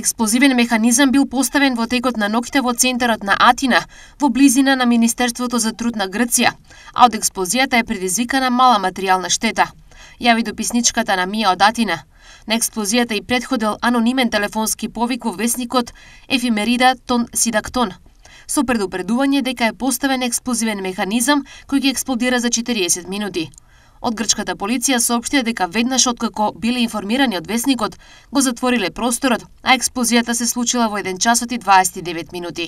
Експлозивен механизам бил поставен во текот на ноќта во центарот на Атина, во близина на Министерството за труд на Грција, а од експлозијата е предизвикана мала материјална штета, јави дописничката на МИА од Атина. На експлозијата и претходел анонимен телефонски повик во весникот Ефимерида Тон Сидактон, со предупредување дека е поставен експлозивен механизам кој ќе експлодира за 40 минути. Од грчката полиција соопштија дека веднаш откако биле информирани од весникот, го затвориле просторот, а експлозијата се случила во 1 час и 29 минути.